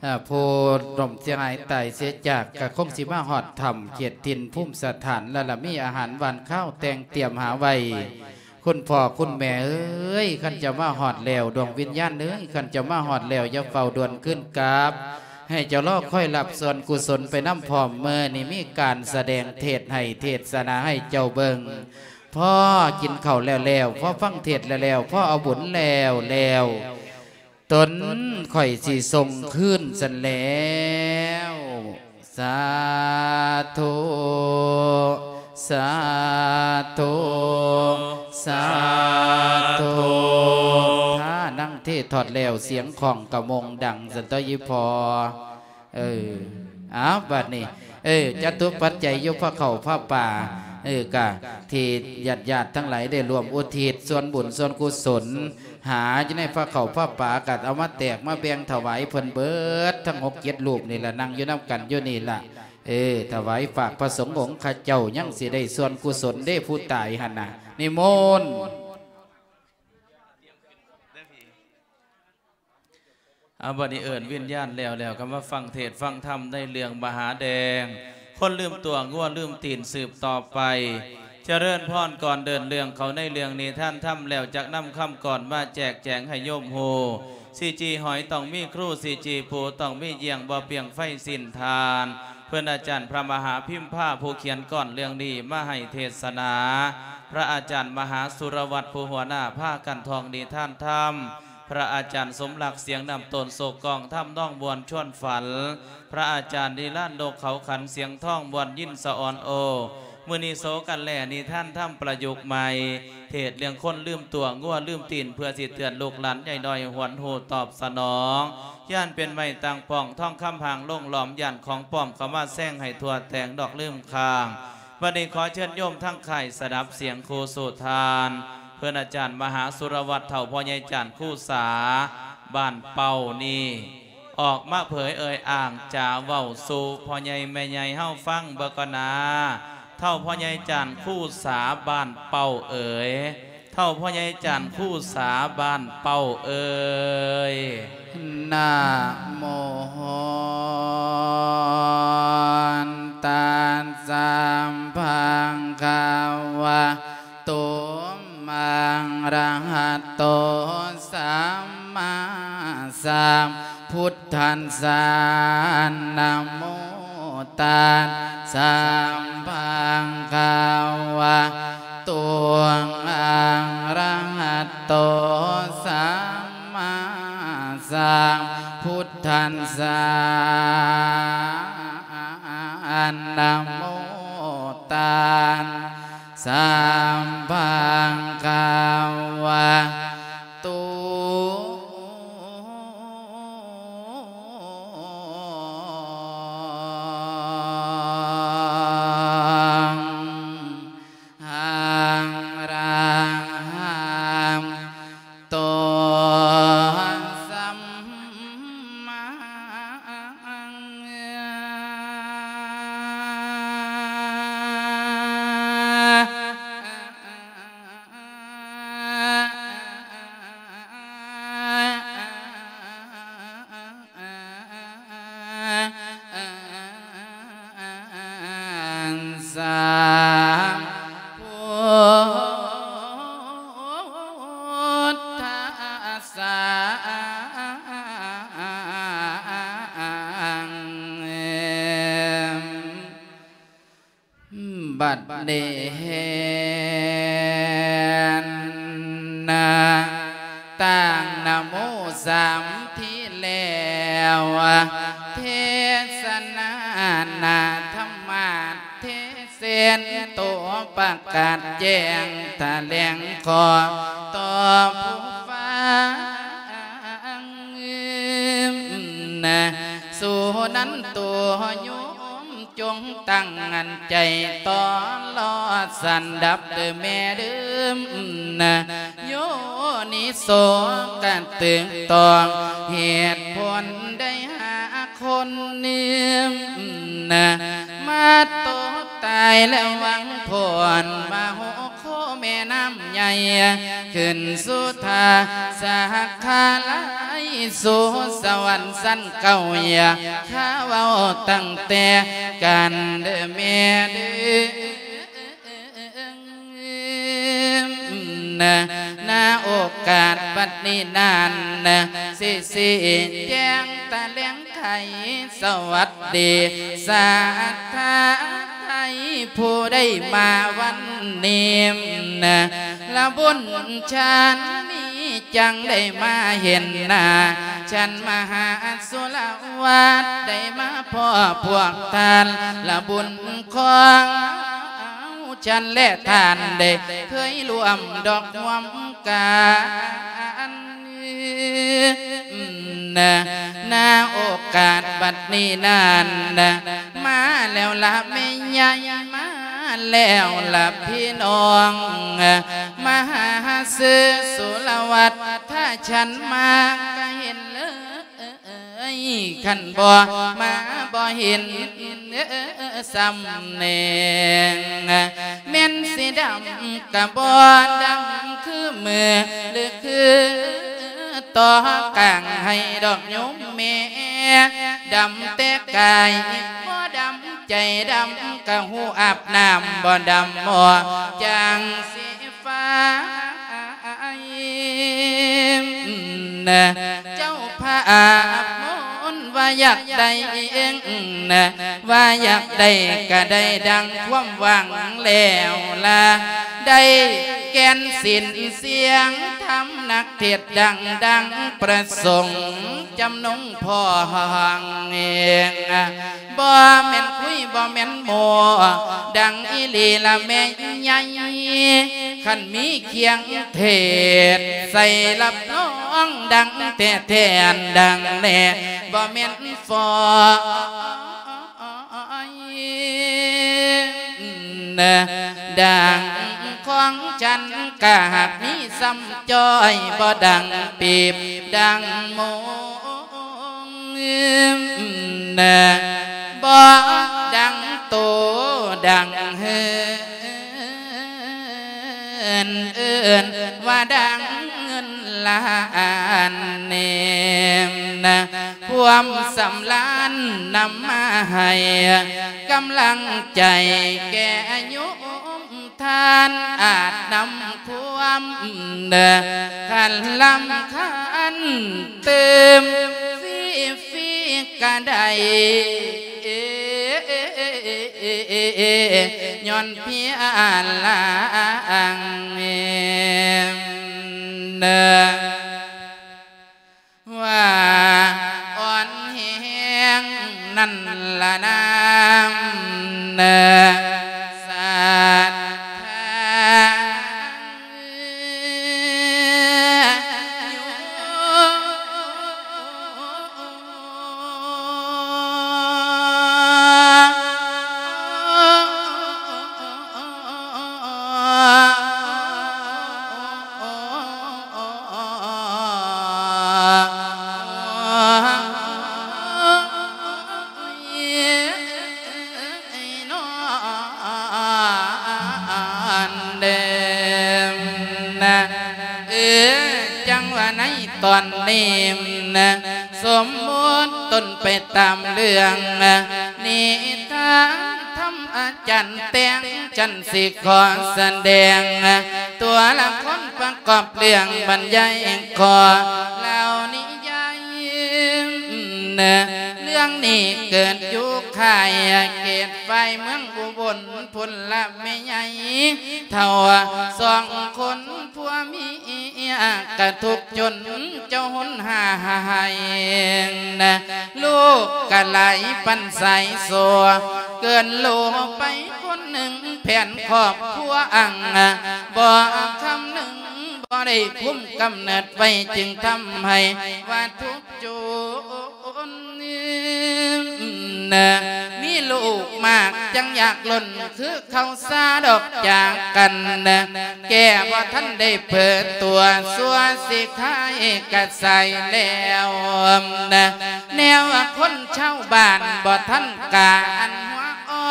ເອີ ຜູ້ລົ້ມເສຍຫາຍຕາຍເສຍຈາກ ກໍຄົງຊິມາຮອດຖ້ຳເຂດຖິ່ນພູມສະຖານແລ້ວລະ ມີອາຫານຫວານຄາວແຕ່ງຕຽມຫາໄວ້. ຄຸນພໍ່ຄຸນແມ່ເອີຍ ຄັນເຈົ້າມາຮອດແລ້ວ ດວງວິນຍານເອີຍ ຄັນເຈົ້າມາຮອດແລ້ວ ຢ່າຟ້າວດ່ວນຄືນກັບ ໃຫ້ເຈົ້າລໍຄອຍຮັບສ່ວນກຸສົນໄປນຳພ້ອມ. ມື້ນີ້ມີການສະແດງເທດໃຫ້ເທດສະໜາໃຫ້ເຈົ້າເບິ່ງ. ພໍກິນເຂົ້າແລ້ວໆ ພໍຟັງເທດແລ້ວໆ ພໍເອົາບຸນແລ້ວໆ ຕົນຂ້ອຍຊິສົ່ງຄືນຊັ້ນແລ້ວ. ສາທຸ ສາທຸ ສາທຸ. ຖ້ານັ່ງເທດທອດແລ້ວ ສຽງຂ້ອງກະມົງດັງຊັ້ນຕົວະອີ່ພໍ່. ເອີ ອ້າວ ບາດນີ້ ເອີ ຈະຕຸປັດໄຈຢູ່ພາເຂົ້າພາປາ ເອີ ກະທີ່ຍາດໆທັງຫຼາຍໄດ້ຮ່ວມອຸທິດສ່ວນບຸນສ່ວນກຸສົນ ຫາຢູ່ໃນພາເຂົ້າພາປາ ກະເອົາມາແຕກມາແບ່ງຖວາຍເພິ່ນເບິດ ທັງຫົກເຈັດຮູບນີ້ລະ ນັ່ງຢູ່ນຳກັນຢູ່ນີ້ລະ. ເອີ ຖວາຍຝາກພະສົງອົງຂະເຈົ້າ ຍັງຊິໄດ້ສ່ວນກຸສົນເດ້ ຜູ້ຕາຍຫັ້ນນະ. ນິມົນ. ອາ ບັດນີ້ເອີ້ນວິນຍານແລ້ວ ແລ້ວກໍມາຟັງເທດຟັງທຳໃນເລື່ອງມະຫາແດງ ຄົນລືມຕົວ ງົວລືມຕີນ ສືບຕໍ່ໄປ. ຈະເລີນພອນ. ກ່ອນເດີນເລື່ອງເຂົ້າໃນເລື່ອງນິທານທຳແລ້ວ ຈັກນຳຄຳກອນມາແຈກແຈງໃຫ້ໂຍມຮູ້. ຊິຈີ່ຫອຍຕ້ອງມີຄູ ຊິຈີ່ປູຕ້ອງມີຢ້ຽງ ບໍ່ປ່ຽງໄຟສິ້ນທານ. ເພິ່ນອາຈານພະມະຫາພິມພາ ຜູ້ຂຽນກອນເລື່ອງນີ້ມາໃຫ້ເທດສະໜາ, ພະອາຈານມະຫາສຸລະວັດ ຜູ້ຫົວໜ້າພາກັນທ່ອງນິທານທຳ, ພະອາຈານສົມລັກ ສຽງນ້ຳຕົ້ນ ໂສກກອງທຳນອງມ່ວນຊວນຝັນ, ພະອາຈານນິລານ ນົກເຂົາຂັນ ສຽງທອງມ່ວນຍິນສະອອນໂອ. ມື້ນີ້ໂສກັນແລ່ນິທານທຳປະຍຸກໃໝ່ ເທດເລື່ອງຄົນລືມຕົວ ງົວລືມຕີນ ເພື່ອຊິເຕືອນລູກຫຼານໃຫຍ່ນ້ອຍຫວນຮູ້ຕອບສະໜອງ. ຢ້ານເປັນໄມ້ຕັ້ງປ້ອງ ທອງຄຳຫາງລົງຫຼອມ ຢ້ານຂອງປອມເຂົ້າມາແຊງໃຫ້ທົ່ວແຕງດອກລືມຄ້າງ. ບັດນີ້ຂໍເຊີນໂຍມທັງຄ້າຍສະດັບສຽງຄູສູ່ທານ ເພິ່ນອາຈານມະຫາສຸລະວັດ ເຖົ້າພໍ່ໃຫຍ່ຈານຄູສາ ບ້ານເປົ້ານີ້ ອອກມາເຜີຍເອີ່ຍອ້າງຈາເວົ້າສູ່ພໍ່ໃຫຍ່ແມ່ໃຫຍ່ເຮົາຟັງເບິ່ງກ່ອນນາ. ເຖົ້າພໍ່ໃຫຍ່ຈານຄູສາບ້ານເປົ້າເອີຍ, ເຖົ້າພໍ່ໃຫຍ່ຈານຄູສາບ້ານເປົ້າເອີຍ. ນະໂມ ຕັດສະ ພະຄະວະໂຕ ອະລະຫະໂຕ ສຳມາສຳພຸດທັດສະ. ນະໂມ ຕັດສະ ພະຄະວະໂຕ ອະລະຫະໂຕ ສຳມາສຳພຸດທັດສະ. ນະໂມ ຕັດສະ ພະຄະວະໂຕ ອະລະຫະໂຕ ສຳມາ ສະ ພຸດທັດສະ. ບັດນີ້ ຕັ້ງນະໂມສາມທີແລ້ວ ເທດສະນານະທຳມະເທເສນໂຕ ປະກາດແຈ້ງຖະແຫຼງຂໍຕໍ່ຜູ້ຟັງ. ສຸນັນໂຕໂຍມ ຈົ່ງຕັ້ງໃຈຕໍ່ລອດສັນດັບເດີແມ່ເດີ ນະ ໂຍນິໂສກະຕຶກຕ້ອງເຫດຜົນໄດ້ຫາຄົນໜຶ່ງ ນະ ມາຕົກຕາຍແລະຫວັງຜົນມະໂຫໂຄມ ແມ່ນ້ຳໃຫຍ່ ຂຶ້ນສູ່ທ່າສັກຄາໄລ ສູ່ສະຫວັນຊັ້ນເກົ້າ ຢ່າຂ້າເວົ້າຕັ້ງແຕ່ການເດີແມ່ເດີ. ນະ ນະໂອກາດບັດນີ້ນັ້ນ ຊິຊີ້ແຈງຕະແຫຼງໄຂ ສະຫວັດດີສັດທາໄທ ຜູ້ໄດ້ມາວັນນີ້ ນະ ລະບຸນຊາດນີ້ ຈັ່ງໄດ້ມາເຫັນໜ້າ ຊັ້ນມະຫາສຸລະວັດ ໄດ້ມາພໍ້ພວກທ່ານ ລະບຸນຂອງ ເຮົາ ຊັ້ນແລະທ່ານໄດ້ເຄີຍຮ່ວມດອກຮ່ວມກັນ ນະ ນະໂອກາດບັດນີ້ນັ້ນ ນະ ມາແລ້ວລະແມ່ໃຫຍ່ ມາແລ້ວລະພີ່ນ້ອງ ມະຫາເສືອສຸລະວັດ ຖ້າຊັ້ນມາກະເຫັນເລີຍ ຄັນບໍ່ມາບໍ່ເຫັນສ່ຳແນງ ແມ່ນຊິດຳກະບໍ່ດຳຄືມື້ ຫຼືຄືຕໍ່ກາງໄຮ່ດອກໂຍມແມ່ ດຳແຕ່ກາຍບໍ່ດຳໃຈ ດຳກະຫູອາບນ້ຳ ບໍ່ດຳໝໍ້ຈາງສີ ໄຟ ນະ ເຈົ້າພາບມົນວ່າຢາກໄດ້ເອງ ນະ ວ່າຢາກໄດ້ກະໄດ້ດັ່ງຄວາມຫວັງແລ້ວລະ ໄດ້ແກ່ນສິນສຽງທຳ ນັກເທດດັງ ດັ່ງປະສົງ ຈຳນົງພ້ອງເອງ ບໍ່ແມ່ນຄຸຍບໍ່ແມ່ນໂມ້ ດັງອີ່ຫຼີລະແມ່ໃຫຍ່ ຄັນມີຄຽງເທດໃສ່ຮັບຮອງ ດັງແທ້ໆ ອັນດັງແນ່ ບໍ່ແມ່ນຟ້ອງ ດັງຂອງຈັນກະຫາກມີສ່ຳຈ້ອຍ ບໍ່ດັງປີບດັງໂມງ ບໍ່ດັງໂຕດັງເຮີ ເອີ້ນວ່າດັງເງິນລ້ານເນມນະ ຄວາມສຳລານນຳມາໃຫ້ກຳລັງໃຈແກ່ໂຍມທ່ານ ອາດນຳຄວາມຄັນລຳຄັນຕື່ມ ຟຣີໆກະໄດ້ ຍ້ອນພຽງລາງ ວ່າອ່ອນແຮງນັ້ນລະນາ ສັດທາ ເອີ ຈັ່ງວ່າໃນຕອນນີ້ນະ ສົມມຸດຕົນໄປຕາມເລື່ອງນິທານທຳ ອາຈານແຕ່ງ ຈັ່ນຊິຂໍສະແດງ ຕົວລະຄົນປະກອບເລື່ອງບັນຍາຍ ຂໍເລົ່ານິຍາຍ ເລື່ອງນີ້ເກີດຢູ່ຄ້າຍເຂດ ໄຟເມືອງອຸບົນພຸ້ນລະແມ່ໃຫຍ່ ເຖົ້າສອງຄົນຜົວເມຍກະທຸກຈົນເຈົ້າຫົນຫາຍ ລູກກະຫຼາຍປັນສາຍໂຊ ເກີນໂລໄປຄົນໜຶ່ງ ແຜນຄອບຄົວອັງ ບໍ່ຄຳນຶງ ບໍ່ໄດ້ຄຸມກຳເນີດໄວ້ ຈຶ່ງທຳໃຫ້ວ່າທຸກ ຈົນ ມີລູກມາກຈັ່ງຢາກລົ້ນ ຄືເຂົ້າສາດອກຈາກກັນ ແກ່ບໍ່ທັນໄດ້ເຜີຕົວ ຊົ່ວຊິຂາຍກະສາຍແລ້ວ ແນວຄົນຊາວບ້ານບໍ່ທັນກາ ອັນຫົວອ່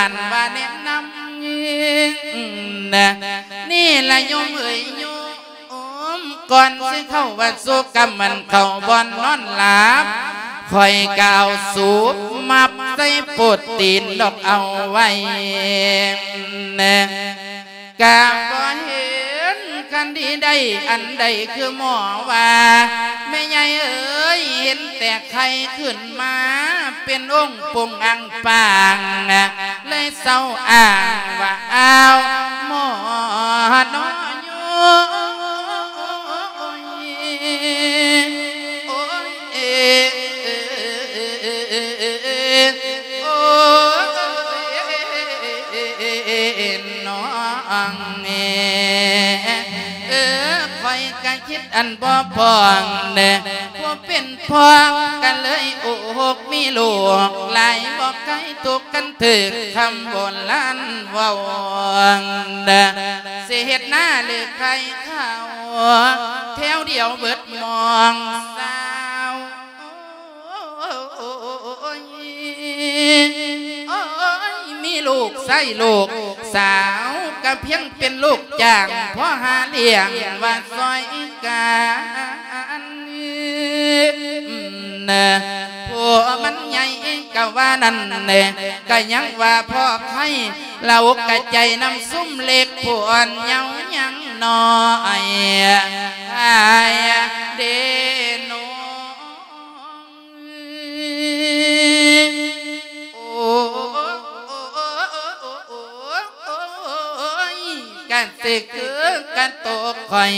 ານວ່າແນະນຳ ນີ້ລະໂຍມເອີຍໂຍມ ກ່ອນຊິເຂົ້າວັດ ສູ່ກັບມັນເຂົ້າບ່ອນນອນຫຼັບ ຂ້ອຍກະເອົາສູບມັບໃສ່ໂປດຕີນດອກເອົາໄວ້ ກະບໍ່ເຫັນຄັນທີ່ໄດ້ອັນໃດ ຄືໝໍວ່າ ແມ່ໃຫຍ່ເອີຍ ເຫັນແຕ່ໄຂ່ຂຶ້ນມາເປັນອົງປົງອັງປາງ ເລີຍເຊົາອ້າງວ່າ ອ້າວ ໝໍເນາະໂຍມ ໂອ້ຍ ໂອ້ຍ ນ້ອງເອີ ເອີ ຂ້ອຍກະຄິດອັນບໍ່ພອງເດີ ຜູ້ເປັນພໍ່ກະເລີຍອຸກມີລູກຫຼາຍ ບໍ່ໄຄທຸກຄັນຖືກຄຳໂບລານເວົ້າເດີ ຊິເຮັດນາຫຼືໄຂ່ເຂົ້າ ແຖວດຽວເບິດໝ່ອງຊາວ ໂອ້ຍ ໂອ້ຍ ມີລູກຊາຍລູກສາວ ກະພຽງເປັນລູກຈ້າງ ພໍຫາລ້ຽງວ່າຊ່ອຍກັນ ຜູ້ມັນໃຫຍ່ກະວ່ານັ້ນ ກະຍັງວ່າພໍໄຄ ລະອົກກະໃຈນຳຊຸມເລັກ ຜູ້ອ່ອນເຍົາຍັງນ້ອຍ ອາຍເດໂນ ໂອ້ຍ ກະຊິຄືກັນໂຕຂ້ອຍ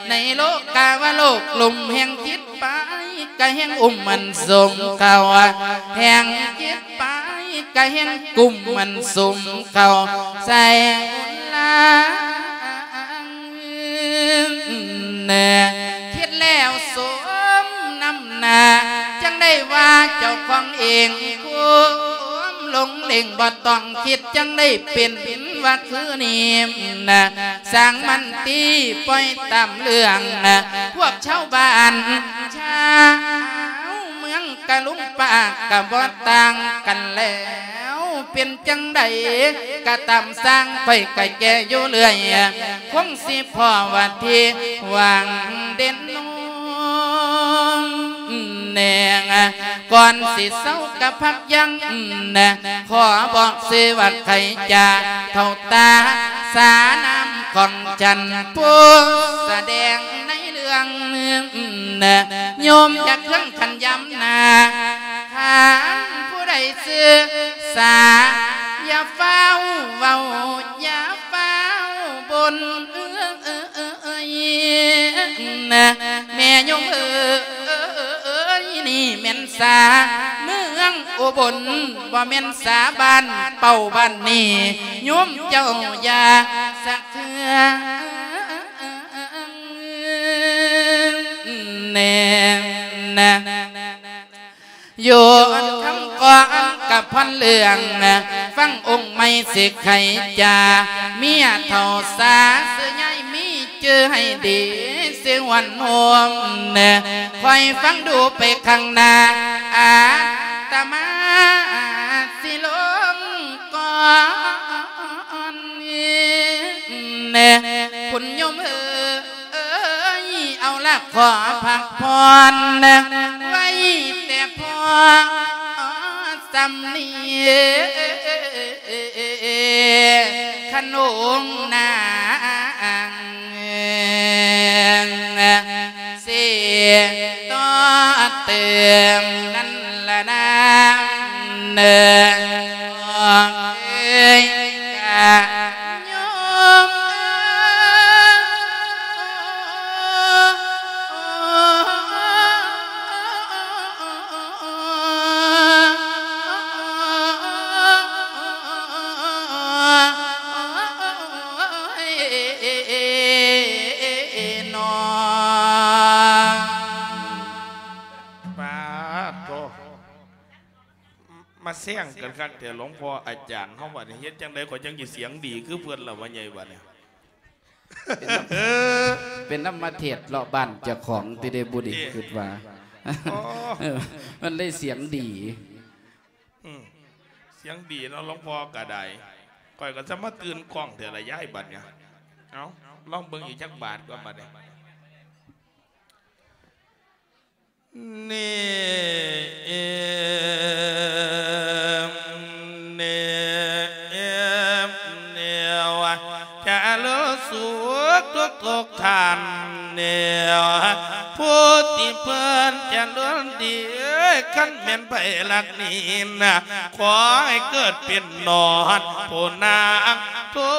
ໃນໂລກາວະໂລກ ລຸ່ມແຫ່ງຈິດໄປ ກະແຮ່ງອຸ້ມມັນສຸມເຂົ້າ ແຮ່ງຈິດໄປ ກະແຮ່ງກຸ້ມມັນສຸມເຂົ້າໃສ່ອຸນລາງ ແນ່ ຄິດແລ້ວສົມນ້ຳໜ້າ ຈັ່ງໄດ້ວ່າເຈົ້າຂອງເອງ ຄວາມຫຼົງເຫຼັງບໍ່ຕ້ອງຄິດ ຈັ່ງໄດ້ເປັນວ່າຄືນີ້ນະ ຊ່າງມັນຕິ ປ່ອຍຕາມເລື່ອງນະ ພວກຊາວບ້ານ ຊາວເມືອງກະລຸງປາກ ກະບໍ່ຕ່າງກັນແລ້ວ ເປັນຈັ່ງໃດກະຕາມຊ່າງ ຂ້ອຍກະແກ່ຢູ່ເລື້ອຍ ຄົງຊິພໍ້ວ່າທີ່ຫວັງເດັ່ນນອງແນງ ກ່ອນຊິເຊົາກະພັກຢັ້ງ ຂໍບອກຊື່ວ່າໄຄຈາ ເທົ່າຕາສານາມຂອງຈັນ ຜູ້ສະແດງໃນເລື່ອງ ໂຍມຢ່າເຄືອງຄັນຍາມໜ້າ ຄັນຜູ້ໃດຊື່ສາ ຢ່າຟ້າວເວົ້າ ຢ່າຟ້າວບົ່ນ ເອີຍ ແມ່ໂຍມເອີຍ ນີ້ ນີ້ແມ່ນສາເມືອງອຸບົນ ບໍ່ແມ່ນສາບ້ານເປົ້າບ້ານນີ້ ໂຍມເຈົ້າຢ່າສັກເທື່ອແນ່ນະ. ຢູ່ອັນຄຳກໍອັນກະພັນເລື່ອງ ຟັງອົງໃໝ່ຊິໄຂຈາ ເມຍເຖົ້າສາຊື່ໃຫຍ່ມີ ຈື່ໃຫ້ດີ ຊິຫວນໂຮມ ຄອຍຟັງດູໄປຂ້າງໜ້າ ອາດຕະມາຊິລົງກ່ອນ ຄຸນໂຍມເອີຍ ເອີຍ ເອົາລະຂໍພັກຜ່ອນ ໄວ້ແຕ່ພໍສ່ຳນີ້ ຄັນອົງນາງຊິຕໍ່ເຕີມນັ້ນລະນາ ເອີຍ ກະໂຍມເອີຍ ປາດໂທ ມາແຊງກັນຄັກແທ້ ຫຼວງພໍ່ອາຈານເຮົາ ບັດນີ້ເຮັດຈັ່ງໃດຂ້ອຍຈັ່ງຊິສຽງດີຄືເພິ່ນລະ ວ່າໃຫຍ່ບັດນີ້ ເປັນນຳ ເປັນນຳມາເທດເລາະບ້ານເຈົ້າຂອງຕິເດ ບຸດີ ເອີ ຄິດວ່າ ໂອ້ ເອີ ມັນເລີຍສຽງດີ ອືມ ສຽງດີເນາະ ຫຼວງພໍ່ກະໄດ້ ຂ້ອຍກະຈະມາຕື່ນກ້ອງແທ້ລະຍາຍ ບັດນີ້ ເອົ້າ ລອງເບິ່ງອີກຈັກບາດກ່ອນບັດນີ້. ນີ້ ເອີມ ນີ້ ເອີມ ນີ້ ຈະເລີນສຸກທຸກໆທ່ານ ນີ້ ຜູ້ທີ່ເພິ່ນຈະເລີນດີ ຄັນແມ່ນໃຜລັກນີ້ນະ ຂໍໃຫ້ເກີດເປັນນອນຜູ້ນາງ ທົ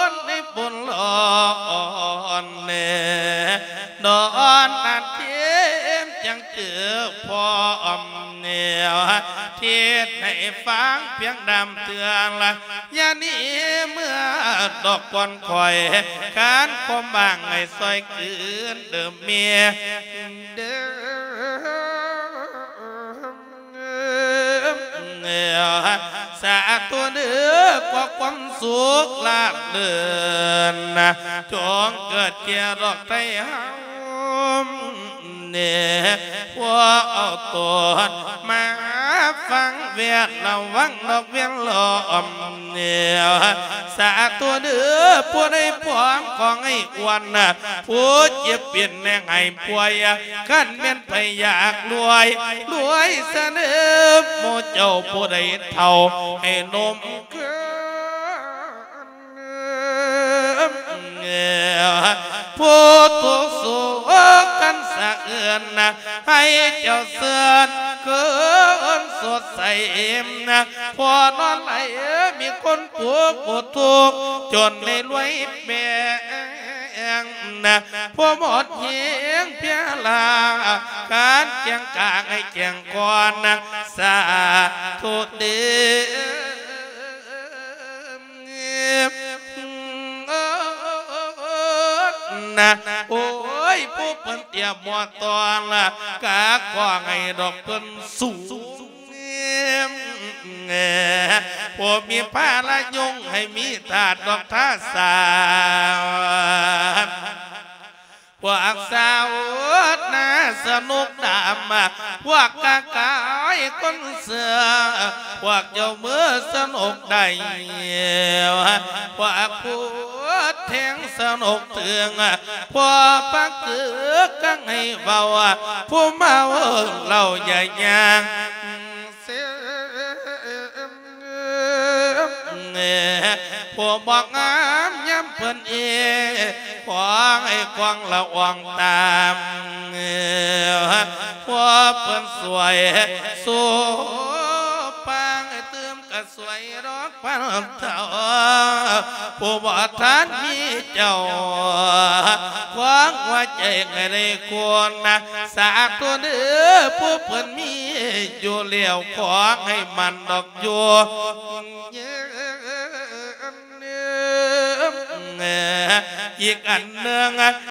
ນໃນບຸນຫຼອນແນ່ ດອນນານເທມຈັ່ງເຈີພ້ອມແນວ ເທດໃຫ້ຟັງພຽງດຳເທື່ອລະ ຢ່າໜີເມືອດອກກ່ອນຂ້ອຍ ຄັນຄວາມຫວັງໃຫ້ຊ່ອຍຄືນເດີເມຍ ເດີ ສາທຸເດີ ຂໍຄວາມສຸກລາບເລີນ ຈົ່ງເກີດແກ່ດອກໄທເຮົາແນ່ ພວກເອົາຕົນມາຟັງແວດລະວັງດອກວຽນລ້ອມແນວ ສາທຸເດີ ຜູ້ໃດພ້ອມຂໍໃຫ້ອວນ ຜູ້ເຈັບເປັນແນງໃຫ້ປ່ວຍ ຄັນແມ່ນໃຜຢາກລວຍ ລວຍສະເໜີ ໝູ່ເຈົ້າຜູ້ໃດເຖົ້າໃຫ້ໜຸ່ມຄືນ ຜູ້ທຸກໂສກກັນສະເອື່ອນ ໃຫ້ເຈົ້າເຊີນຄືນສົດໃສ ພໍນອນໄຫຼມີຄົນ ຜູ້ຜູ້ທຸກຈົນໃນລວຍແບງ ຜູ້ໝົດແຮງເພຍລາ ການແຈ້ງກາງໃຫ້ແຈ້ງກ່ອນ ສາທຸເດີນະ ໂອ້ຍ ຜູ້ເພິ່ນຕຽມໝໍຕ້ອນ ກະຂໍໃຫ້ດອກເພິ່ນສູງ ຜູ້ມີພາລະຍົງໃຫ້ມີທາດດອກທາສາ ພວກສາວນາສະໜຸກດຳ ພວກກະກາຍຄົນເຊື່ອ ພວກເຈົ້າມືສະໜຸກໄດ້ ພວກຜູ້ແທງສະໜຸກເຖິງ ພວກປັກກຶກກັງໃຫ້ເວົ້າ ຜູ້ເມົາເຫຼົ້າຢ່າຍ່າງ ເຊີມ ຜູ້ບໍ່ງາມຍາມເພິ່ນເອ ຂໍໃຫ້ຄວາງລະອອງຕາມ ຜູ້ເພິ່ນຊ່ວຍໂສພາໃຫ້ຕື່ມກະຊ່ວຍດອກພັນເທົ່າ ຜູ້ບໍ່ທັນມີເຈົ້າ ຂໍ ຫົວໃຈໃຫ້ໄດ້ຄົນນະ ສາທຸເດີ້ ຜູ້ເພິ່ນມີຢູ່ແລ້ວ ຂໍໃຫ້ໝັ້ນດອກຢູ່ ອີກອັນໜຶ່ງ